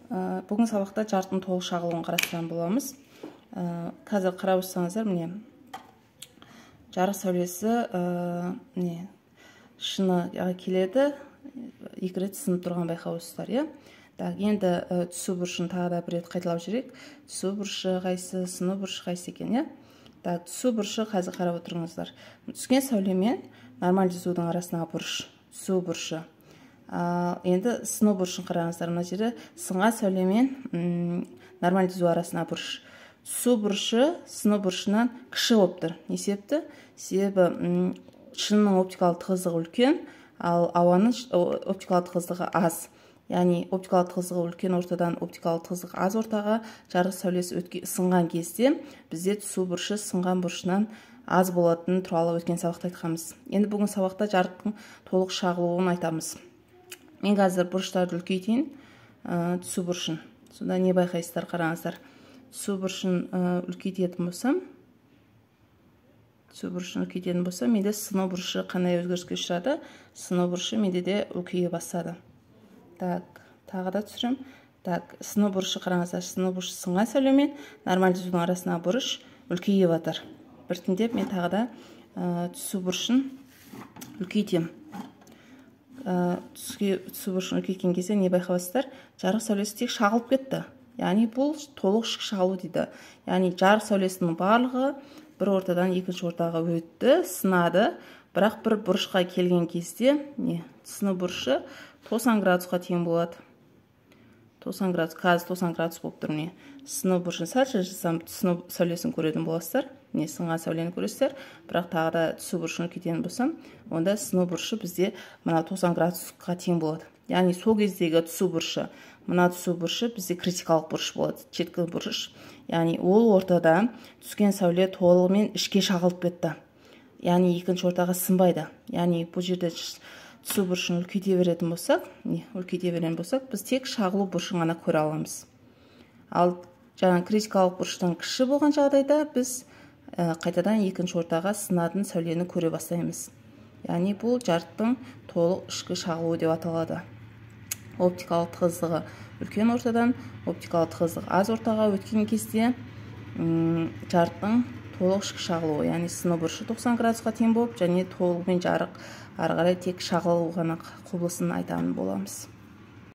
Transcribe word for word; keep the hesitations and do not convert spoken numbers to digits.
Бүгін сабақта жарықтың толық шағылуын қарастыратын боламыз. Қазір қарап отырсаңыздар, міне жарық сәулесі міне шыныға келеді, екі рет сынып тұрған байқаусыздар, иә. Так, енді түсу бұрышын тағы да бір рет қайталап жүрейік. Түсу бұрышы қайсы, сыну бұрышы қайсы екен, иә. Так, түсу бұрышы қазір қарап отырыңыздар. Түскен сәулемен нормализудің арасындағы бұрыш, түсу бұрышы. Енді сыну бұрышын қараңыздар, мына жері сынған сәулемен нормализу арасына бұрыш. Түсу бұрышы сыну бұрышынан кіші болып тұр. Не себепті? Себебі шынның оптикалық тығыздығы үлкен, ал ауаның оптикалық тығыздығы аз. Яғни оптикалық тығыздығы үлкен ортадан оптикалық тығыздығы аз ортаға жарық сәулесі сынған кезде бізде түсу бұрышы сынған бұрышынан аз болатыны туралы өткен сабақта айтқанбыз. Енді бүгін сабақта жарықтың толық шағылуын айтамыз. Мен қазір бұрыштарды үлкейтейін, түсу бұрышын. Сонда не байқайсыздар, қараңыздар. Түсу бұрышын үлкейтетін болсам, түсу бұрышын үлкейтетін болсам, менде сыну бұрышы қандай өзгеріске ұшырады? Сыну бұрышы менде де үлкейе бастады. Так, тағы да түсірім. Так, сыну бұрышы қараңыздар, сыну бұрышы сынған сәулемен нормализудің арасына бұрыш үлкейе батыр. Біртіндеп мен тағы да түсу бұрышын үлкейтем. Түсу бұрышын үлкейткен кезде не байқайсыздар? Жарық сәулесі тек шағылып кетті. Яғни бұл толық ішкі шағылу дейді. Яғни жарық сәулесінің барлығы бір ортадан екінші ортаға өтті, сынады. Бірақ бір бұрышқа келген кезде не? Сыну бұрышы тоқсан градусқа тең болады. тоқсан градус, қазір тоқсан градус болып тұр, не? Сыну бұрышын сәл жасасам, сыну сәулесін көретін боласыздар. Не, сынған сәулені көресіздер. Бірақ тағы да түсу бұрышын үлкейтетін болсам, онда сыну бұрышы бізде мына тоқсан градусқа тең болады. Яғни сол кездегі түсу бұрышы, мына түсу бұрышы бізде критикалық бұрыш болады, шеткі бұрыш. Яғни ол ортада түскен сәуле толығымен ішке шағылып кетті. Яғни екінші ортаға сынбайды. Яғни бұл жерде түсу бұрышын үлкейте беретін болсақ, не, үлкейте беретін болсақ, біз тек шағылу бұрышын ғана көре аламыз. Ал жаңа критикалық бұрыштан кіші болған жағдайда біз қайтадан екінші ортаға сынатын сәулені көре бастаймыз. Яғни бұл жарықтың толық ішкі шағылуы деп аталады. Оптикалық тығыздығы үлкен ортадан оптикалық тығыздығы аз ортаға өткен кезде жарықтың толық ішкі шағылуы, яғни сыну бұрышы тоқсан градусқа тең болып, және толығымен жарық ары қарай тек шағылу ғана құбылысын айтатын боламыз.